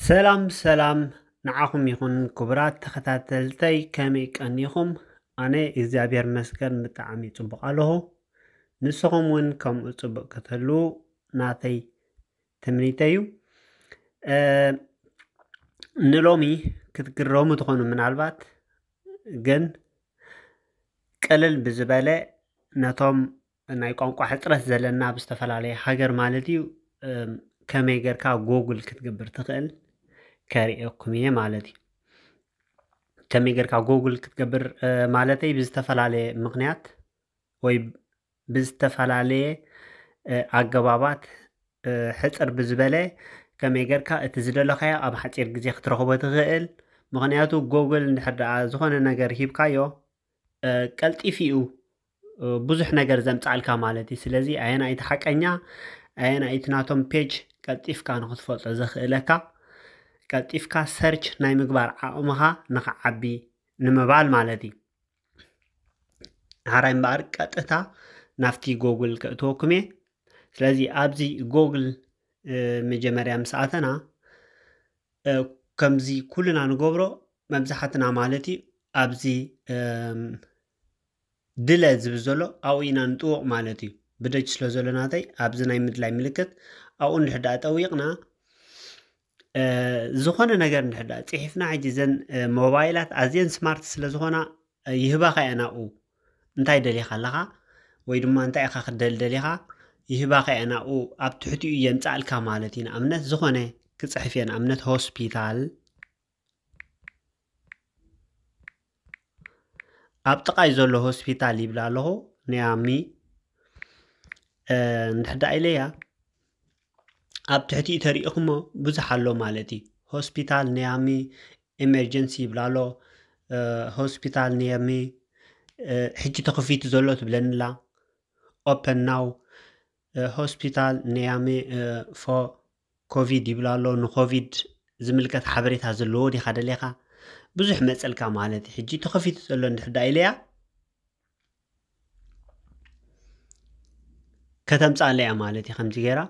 ሰላም ሰላም ንዓኹም ይኹን ክቡራት ተኸታተልተይ፣ ከመይ ቀኒኹም? ኣነ እግዚኣብሔር መስገን ብጣዕሚ ጽቡቕ ኣለኹ። ንስኹም እውን ከምኡ ጽቡቕ ክትህልዉ ናተይ ትምኒተይ እዩ። እ፣ ንሎሚ ክትግረሙ ትኾኑ ምናልባት፣ ግን ቅልል ብዝበለ ነቶም ናይ ቋንቋ ሕጽረት ዘለና ኣብ ዝተፈላለየ ሃገር ማለት እዩ፣ እም፣ ከመይ ጌርካ ጎግል ክትገብር ትኽእል ከርእየኩም እየ ማለት እዩ። ከመይ ጌርካ ጎግል ክትገብር፣ እ፣ ማለተይ ብዝተፈላለየ ምኽንያት ወይ ብዝተፈላለየ፣ እ፣ ኣገባባት፣ እ፣ ሕጽር ብዝበለ ከመይ ጌርካ እቲ ዝደለኻዮ ኣብ ሓጺር ግዜ ክትረኽቦ ትኽእል። ምኽንያቱ ጎግል እንድሕር ደኣ ዝኾነ ነገር ሂብካዮ፣ እ፣ ቀልጢፉ እዩ፣ እ፣ ብዙሕ ነገር ዘምጽኣልካ ማለት እዩ። ስለዚ ኣየናይ እቲ ሓቀኛ፣ ኣየናይ እቲ ናቶም ፔጅ ቀልጢፍካ ንኽትፈልጦ ዘኽእለካ፣ ቀልጢፍካ ሰርች ናይ ምግባር ዓቕምኻ ንኽዓቢ ንምባል ማለት እዩ። ሓራይ እምበኣር ቀጥታ ናብቲ ጎግል ከእትወኩም እየ። ስለዚ ኣብዚ ጎግል፣ እ፣ መጀመርያ ምስ ኣተና፣ እ፣ ከምዚ ኩልና ንገብሮ መብዛሕትና ማለት እዩ ኣብዚ፣ እም፣ ድለ ዝብል ዘሎ ኣብኡ ኢና ንጥውቕ ማለት እዩ። ብደጅ ስለ ዘሎ ናተይ ኣብዚ ናይ ምድላይ ምልክት ኣብኡ እንድሕር ደኣ ጠዊቕና፣ እ፣ ዝኾነ ነገር እንድሕር ደኣ ጽሒፍና፣ ሕጂ እዘን፣ እ፣ ሞባይላት ኣዝየን ስማርት ስለ ዝኾና፣ እ፣ ይህባኻ እየን ኣብኡ። እንታይ ደሊኻ ኣለኻ ወይ ድማ እንታይ ኢኻ ክትደሊ ደሊኻ ይህባኻ እየን ኣብኡ ኣብ ትሕቲኡ የምጽኣልካ ማለት እዩ። ንኣብነት ዝኾነ ክጽሕፍ እየ፣ ንኣብነት ሆስፒታል። ኣብ ጥቓይ ዘሎ ሆስፒታል ይብላ ኣለኹ፣ ንያሚ፣ እ፣ እንድሕር ደኣ ኢለያ ኣብ ትሕቲኡ ተሪኢኹሞ ብዙሕ ኣሎ ማለት እዩ። ሆስፒታል ንያሚ ኤመርጀንሲ ይብላ ኣሎ፣ እ፣ ሆስፒታል ንያሚ፣ እ፣ ሕጂ ተኸፊቱ ዘሎ ትብለኒ ኣላ። ኦፐን ናው፣ እ፣ ሆስፒታል ንያሚ፣ እ፣ ፎ ኮቪድ ይብላ ኣሎ። ንኮቪድ ዝምልከት ሓበሬታ ዘለዎ ዲኻ ደሊኻ? ብዙሕ መጸልካ ማለት እዩ። ሕጂ ተኸፊቱ ዘሎ እንድሕር ደኣ ኢለያ ከተምጽኣለያ ማለት እዩ ከምዚ ገይራ።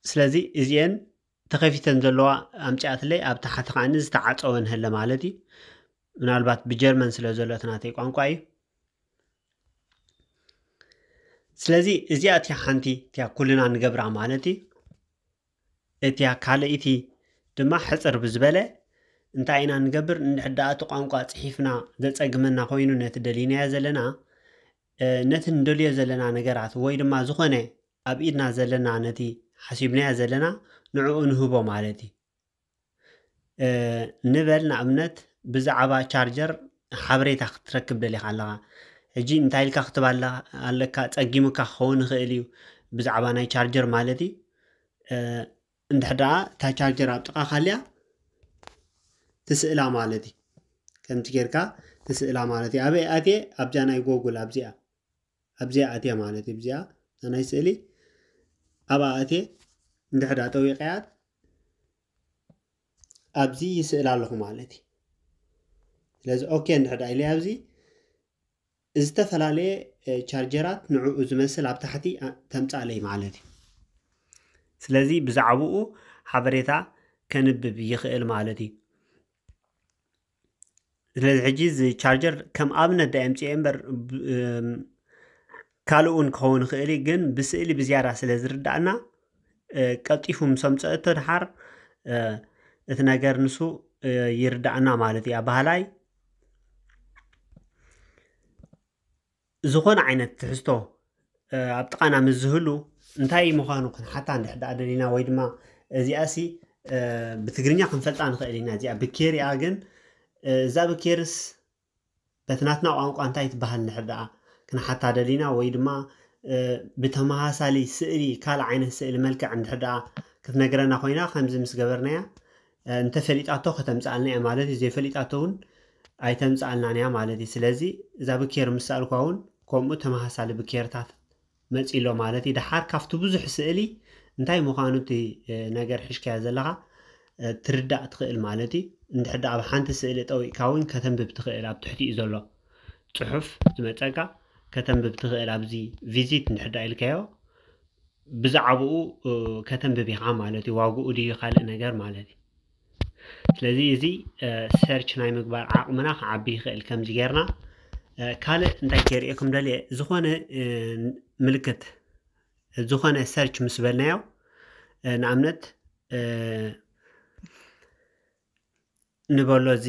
ስለዚ እዚኤን ተኸፊተን ዘለዋ ኣምጺኣትለይ፣ ኣብ ታሕቲ ከዓኒ ዝተዓጸወ እንሀለ ማለት እዩ። ምናልባት ብጀርመን ስለ ዘሎ እቲ ናተይ ቋንቋ እዩ። ስለዚ እዚኣ እቲያ ሓንቲ እቲያ ኩልና ንገብራ ማለት እዩ። እቲያ ካልኣይቲ ድማ ሕጽር ብዝበለ እንታይ ኢና ንገብር? እንድሕር ደኣ እቲ ቋንቋ ጽሒፍና ዘጸግመና ኮይኑ ነቲ ደሊናዮ ዘለና፣ እ፣ ነቲ ንደልዮ ዘለና ነገራት ወይ ድማ ዝኾነ ኣብ ኢድና ዘለና ነቲ ሓሲብናዮ ዘለና ንዕኡ ንህቦ ማለት እዩ። እ፣ ንበል ንኣብነት ብዛዕባ ቻርጀር ሓበሬታ ክትረክብ ደሊኻ ኣለኻ። ሕጂ እንታይ ኢልካ ክትብ ኣለ-፣ ኣለካ፣ ጸጊሙካ ክኸውን ይኽእል እዩ ብዛዕባ ናይ ቻርጀር ማለት እዩ። እ፣ እንድሕር ደኣ እታ ቻርጀር ኣብ ጥቓኻ ኣልያ ትስእላ ማለት እዩ። ከምቲ ጌርካ ትስእላ ማለት እዩ። ኣበይ ኣትየ? ኣብዛ ናይ ጎግል ኣብዚኣ፣ ኣብዚኣ ኣትየ ማለት እዩ። ኣብዚኣ እታ ናይ ስእሊ ኣብኣ ኣትየ እንድሕር ደኣ ጠዊቐያ ኣብዚ ይስእል ኣለኹ ማለት እዩ። ስለዚ ኦኬ እንድሕር ደኣ ኢለ ኣብዚ ዝተፈላለየ፣ እ፣ ቻርጀራት ንዕኡ ዝመስል ኣብ ታሕቲ፣ እ፣ ተምጻለይ ማለት እዩ። ስለዚ ብዛዕባኡ ሓበሬታ ከንብብ ይኽእል ማለት እዩ። ስለዚ ሕጂ እዚ ቻርጀር ከም ኣብነት ደኣ የምጽኦ እምበር፣ ብ-፣ እም፣ ካልእ እውን ክኸውን ይኽእል እዩ፣ ግን ብስእሊ ብዝያዳ ስለ ዝርዳእና፣ እ፣ ቀልጢፉ ምስ ኣምጸእቶ ድሓር፣ እ፣ እቲ ነገር ንሱ፣ እ፣ ይርዳእና ማለት እዩ። ኣባህላይ ዝኾነ ዓይነት ትሕዝቶ፣ እ፣ ኣብ ጥቓና ምስ ዝህሉ እንታይ ምዃኑ ክንሓታ እንድሕር ደኣ ደሊና ወይ ድማ እዚኣሲ፣ እ፣ ብትግርኛ ክንፈልጣ ንኽእል ኢና። እዚኣ ብኬር እያ፣ ግን፣ እ፣ እዛ ብኬርስ በቲ ናትና ቋንቋ እንታይ ትበሃል እንድሕር ደኣ ክንሓታ ደሊና ወይ ድማ፣ እ፣ ብተመሳሳሊ ስእሊ ካልእ ዓይነት ስእሊ መልክዕ እንድሕር ደኣ ክትነግረና ኮይና ከምዚ ምስ ገበርናያ፣ እ፣ እንተፈሊጣቶ ከተምጽኣልና እያ ማለት እዩ። ዘይፈሊጣቶ እውን ኣይተምጽኣልናን እያ ማለት እዩ። ስለዚ እዛ ብኬር ምስ ሰኣልኳ እውን ከምኡ ተመሳሳሊ ብኬርታት መጺእ ኣሎ ማለት እዩ። ደሓር ካብቲ ብዙሕ ስእሊ እንታይ ምዃኑ እቲ፣ እ፣ ነገር ሒዝካዮ ዘለኻ፣ እ፣ ትርዳእ ትኽእል ማለት እዩ። እንድሕር ደኣ ኣብ ሓንቲ ስእሊ ጠዊቕካ እውን ከተንብብ ትኽእል፣ ኣብ ትሕቲኡ ዘሎ ጽሑፍ ዝመጸካ ከተንብብ ትኽእል። ኣብዚ ቪዚት እንድሕር ደኣ ኢልካዮ ብዛዕባኡ ከተንብብ ኢኻ ማለት እዩ። ዋግኡ ድዩ ካልእ ነገር ማለት እዩ። ስለዚ እዚ ሰርች ናይ ምግባር ዓቕምና ክዓቢ ይኽእል። ከምዚ ጌርና ካልእ እንታይ ከርእየኩም ደልየ፣ ዝኾነ ምልክት፣ ዝኾነ ሰርች ምስ በልናዮ፣ ንኣብነት ንበሎ፣ እዚ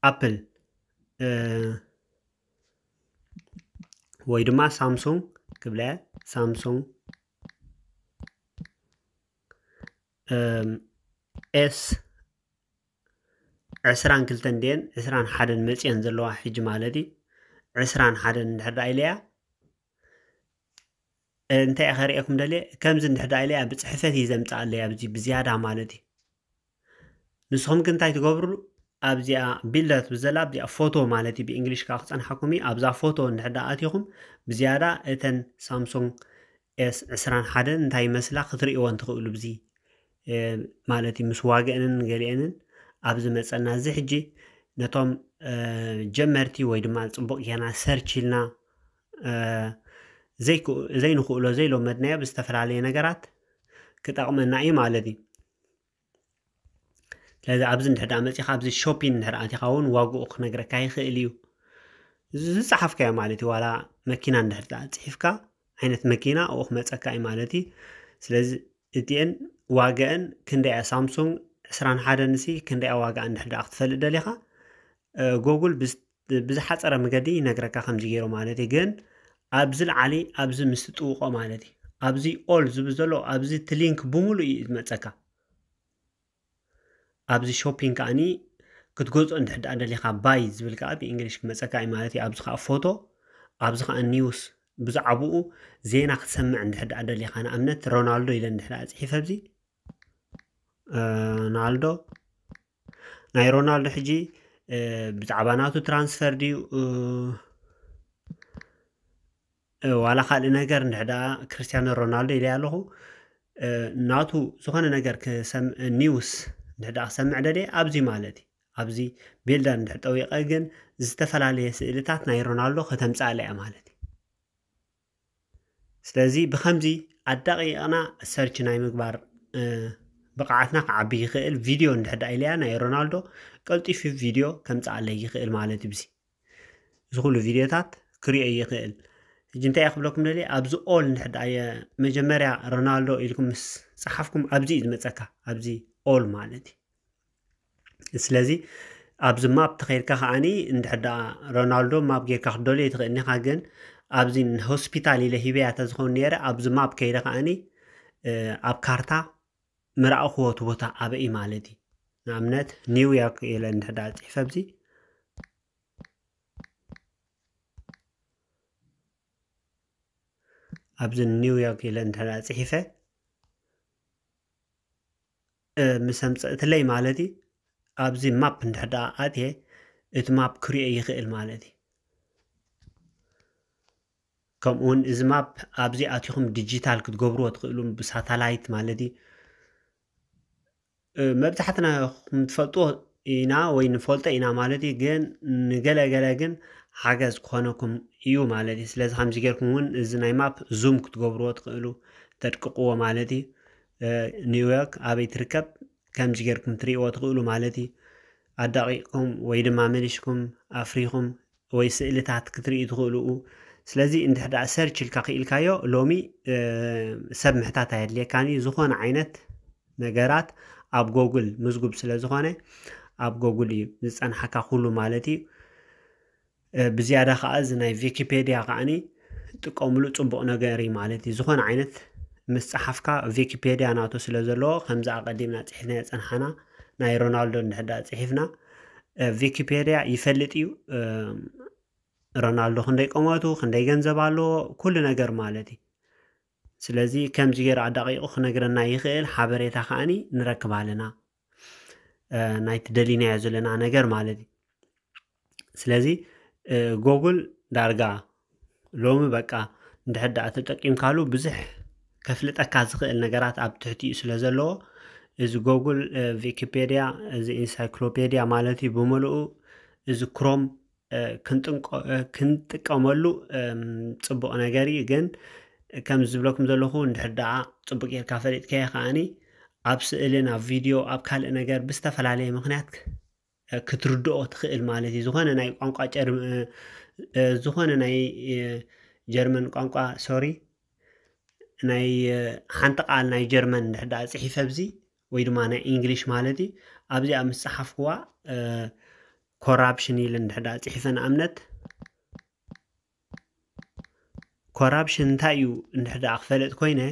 ኣፕል ወይ ድማ ሳምሱንግ ክብለ፣ ሳምሱንግ ኤስ ዕስራን ክልተን ድየን ዕስራን ሓደን መፅየን ዘለዋ ሕጂ ማለት እዩ። ዕስራን ሓደን እንድሕር ደኣ ኢለያ፣ እንታይ እየ ከርእየኩም ደልየ፣ ከምዚ እንድሕር ደኣ ኢለያ ብፅሕፈት እዩ ዘምፅኣለይ ኣብዚ ብዝያዳ ማለት እዩ። ንስኹም ግን እንታይ ትገብሩ? ኣብዚኣ ቢልደር ትብል ዘላ ኣብዚኣ ፎቶ ማለት እዩ፣ ብእንግሊሽ ከዓ ክፀንሓኩም እዩ። ኣብዛ ፎቶ እንድሕር ደኣ ኣቲኹም ብዝያዳ እተን ሳምሱንግ ኤስ ዕስራን ሓደን እንታይ ይመስላ ክትርእይወን ትኽእሉ ብዚ ማለት እዩ። ምስ ዋግአንን ገሊአንን ኣብ ዝመፀና፣ እዚ ሕጂ ነቶም ጀመርቲ ወይ ድማ ፅቡቕ ጌና ሰርች ኢልና ዘይንኽእሎ ዘይለመድናዮ ብዝተፈላለየ ነገራት ክጠቕመና እዩ ማለት እዩ። ስለዚ ኣብዚ እንድሕር ደኣ መፂኻ ኣብዚ ሾፒን እንድሕር ኣቲኻ እውን ዋግኡ ክነግረካ ይኽእል እዩ። ዝፀሓፍካዮ ማለት እዩ። ዋላ መኪና እንድሕር ደኣ ፅሒፍካ ዓይነት መኪና ኣብኡ ክመፀካ እዩ ማለት እዩ። ስለዚ እቲአን ዋጋአን ክንደያ፣ ሳምሱንግ ዕስራን ሓደን ሲ ክንደያ ዋጋ እንድሕር ደኣ ክትፈልጥ ደሊኻ፣ ጎጉል ብዝሓፀረ መገዲ ይነግረካ ከምዚ ገይሩ ማለት እዩ። ግን ኣብዚ ላዓሊ ኣብዚ ምስ ትጥውቆ ማለት እዩ። ኣብዚ ኦል ዝብል ዘሎ ኣብዚ እቲ ሊንክ ብምሉእ እዩ ዝመፀካ። ኣብዚ ሾፒንግ ከዓኒ ክትገዝኦ እንድሕር ደኣ ደሊኻ ባይ ዝብል ከዓ ብእንግሊሽ ክመፀካ እዩ ማለት እዩ። ኣብዚ ከዓ ፎቶ፣ ኣብዚ ከዓ ኒውስ፣ ብዛዕባኡ ዜና ክትሰምዕ እንድሕር ደኣ ደሊኻ፣ ንኣብነት ሮናልዶ ኢለ እንድሕር ደኣ ፅሒፈ ኣብዚ ሮናልዶ፣ ናይ ሮናልዶ ሕጂ ብዛዕባ ናቱ ትራንስፈር ድዩ ዋላ ካልእ ነገር እንድሕር ደኣ ክርስቲያኖ ሮናልዶ ኢለ ኣለኹ፣ ናቱ ዝኾነ ነገር ኒውስ እንድሕር ደኣ ክሰምዕ ደልየ ኣብዚ ማለት እዩ። ኣብዚ ቢልደር እንድሕር ጠዊቐ ግን ዝተፈላለየ ስእልታት ናይ ሮናልዶ ከተምፅኣለ እያ ማለት እዩ። ስለዚ ብኸምዚ ኣዳቂቕና ሰርች ናይ ምግባር ብቕዓትና ክዓቢ ይኽእል። ቪድዮ እንድሕር ደኣ ኢለያ ናይ ሮናልዶ ቀልጢፉ ቪድዮ ከምፅኣለይ ይኽእል ማለት እዩ። ብዚ እዚ ኩሉ ቪድዮታት ክሪኦ ይኽእል። ሕጂ እንታይ እየ ክብለኩም ደልየ፣ ኣብዚ ኦል እንድሕር ደኣ መጀመርያ ሮናልዶ ኢልኩም ምስ ፀሓፍኩም ኣብዚ እዩ ዝመፀካ፣ ኣብዚ ኦል ማለት እዩ። ስለዚ ኣብዚ ማፕ ተኸይድካ ከዓኒ እንድሕር ደኣ ሮናልዶ ማፕ ጌርካ ክትደልዮ ትኽእል ኢኻ። ግን ኣብዚ ንሆስፒታል ኢለ ሂበያ ተዝኸውን ነይረ፣ ኣብዚ ማፕ ከይደ ከዓኒ ኣብ ካርታ ምረኣኹዎ እቲ ቦታ ኣበይ ማለት እዩ። ንኣብነት ኒውዮርክ ኢለ እንድሕር ደኣ ፅሒፈ ኣብዚ ኣብዚ ኒውዮርክ ኢለ እንድሕር ደኣ ፅሒፈ ምስ ኣምፀእትለይ ማለት እዩ። ኣብዚ ማፕ እንድሕር ደኣ ኣትየ እቲ ማፕ ክሪኦ ይኽእል ማለት እዩ። ከምኡ እውን እዚ ማፕ ኣብዚ ኣቲኹም ዲጂታል ክትገብርዎ ትኽእሉ ብሳተላይት ማለት እዩ። መብዛሕትና ትፈልጥዎ ኢና ወይ ንፈልጦ ኢና ማለት እዩ። ግን ንገለገለ ግን ሓገዝ ክኾነኩም እዩ ማለት እዩ። ስለዚ ከምዚ ጌርኩም እውን እዚ ናይ ማፕ ዙም ክትገብርዎ ትኽእሉ፣ ተድቅቕዎ ማለት እዩ። ኒውዮርክ ኣበይ ትርከብ ከምዚ ጌርኩም ትርእይዎ ትኽእሉ ማለት እዩ። ኣዳቂቕኩም ወይ ድማ መሊሽኩም ኣፍሪኹም ወይ ስእልታት ክትርእዩ ትኽእሉ። ስለዚ እንድሕር ደኣ ሰርች ኢልካ ክኢልካዮ ሎሚ ሰብ ምሕታት ኣየድልየካን እዩ። ዝኾነ ዓይነት ነገራት ኣብ ጎግል ምዝጉብ ስለ ዝኾነ ኣብ ጎግል እዩ ዝፀንሓካ ኩሉ ማለት እዩ። ብዝያዳ ከዓ እዚ ናይ ቪኪፔድያ ከዓኒ ጥቀምሉ ፅቡቕ ነገር እዩ ማለት እዩ። ዝኾነ ዓይነት ምስ ፀሓፍካ ቪኪፔድያ ናቱ ስለ ዘለዎ ከምዚ ኣቐዲምና ፅሒፍናዮ ፀንሓና ናይ ሮናልዶ እንድሕር ደኣ ፅሒፍና ቪኪፔድያ ይፈልጥ እዩ። ሮናልዶ ክንደይ ቆመቱ፣ ክንደይ ገንዘብ ኣለዎ፣ ኩሉ ነገር ማለት እዩ። ስለዚ ከምዚ ገይሩ ኣዳቂቑ ክነግረና ይኽእል፣ ሓበሬታ ከዓኒ ንረክብ ኣለና ናይቲ ደሊናዮ ዘለና ነገር ማለት እዩ። ስለዚ ጎጉል ዳርጋ ሎሚ በቃ እንድሕር ደኣ ተጠቂምካሉ ብዙሕ ከፍልጠካ ዝኽእል ነገራት ኣብ ትሕቲኡ ስለ ዘለዎ እዚ ጎጉል ቪኪፔድያ፣ እዚ ኢንሳይክሎፔድያ ማለት እዩ ብምልኡ፣ እዚ ክሮም ክንጥቀመሉ ፅቡቕ ነገር እዩ። ግን ከም ዝብለኩም ዘለኹ እንድሕር ደኣ ጽቡቅ ጌርካ ፈሊጥካዮ ከኣኒ ኣብ ስእልን ኣብ ቪድዮ ኣብ ካልእ ነገር ብዝተፈላለየ ምኽንያት ክትርድኦ ትኽእል ማለት እዩ። ዝኾነ ናይ ቋንቋ ጀርመ ዝኾነ ናይ ጀርመን ቋንቋ ሶሪ ናይ ሓንቲ ቃል ናይ ጀርመን እንድሕር ደኣ ጽሒፈ ኣብዚ ወይ ድማ ናይ ኢንግሊሽ ማለት እዩ ኣብዚኣ ምስ ጸሓፍኩዋ ኮራፕሽን ኢለ እንድሕር ደኣ ጽሒፈ ንኣብነት ኮራፕሽን እንታይ እዩ እንድሕር ደኣ ክፈልጥ ኮይነ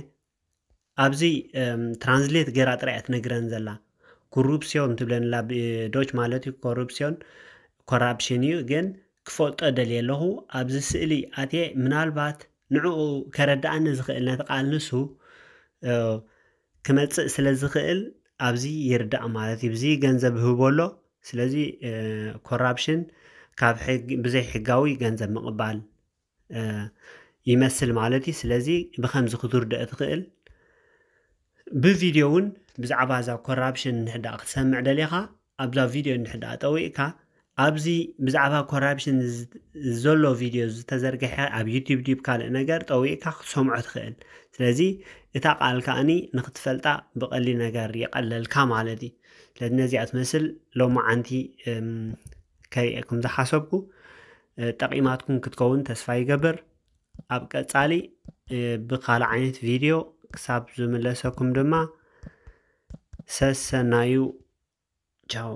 ኣብዚ ትራንስሌት ገራ ጥራይ እያ ትነግረን ዘላ ኮሩፕሲዮን ትብለንላ ብዶች ማለት እዩ ኮሩፕሲዮን ኮራፕሽን እዩ ግን ክፈልጦ ደልየ ኣለኹ ኣብዚ ስእሊ ኣትየ ምናልባት ንዕኡ ከረድኣኒ ዝኽእል ነቲ ቃል ንሱ ክመፅእ ስለ ዝኽእል ኣብዚ ይርዳእ ማለት እዩ ብዚ ገንዘብ ህቦ ኣሎ ስለዚ ኮራፕሽን ካብ ብዘይ ሕጋዊ ገንዘብ ምቕባል ይመስል ማለት እዩ ስለዚ ብከምዚ ክትርድኦ ትኽእል ብቪድዮ እውን ብዛዕባ እዛ ኮራፕሽን እንድሕዳ ክትሰምዕ ደሊኻ ኣብዛ ቪድዮ እንድሕዳ ጠዊቕካ ኣብዚ ብዛዕባ ኮራፕሽን ዘሎ ቪድዮ ዝተዘርግሐ ኣብ ዩቲብ ዲብ ካልእ ነገር ጠዊቕካ ክትሰምዖ ትኽእል ስለዚ እታ ቃል ከኣኒ ንክትፈልጣ ብቐሊ ነገር ይቐለልካ ማለት እዩ ስለዚ ነዚኣ ትመስል ሎማዓንቲ ከርእየኩም ዝሓሰብኩ ጠቒማትኩም ክትከውን ተስፋ ይገብር ኣብ ቀጻሊ ብካልእ ዓይነት ቪድዮ ክሳብ ዝምለሰኩም ድማ ሰሰናዩ ቻው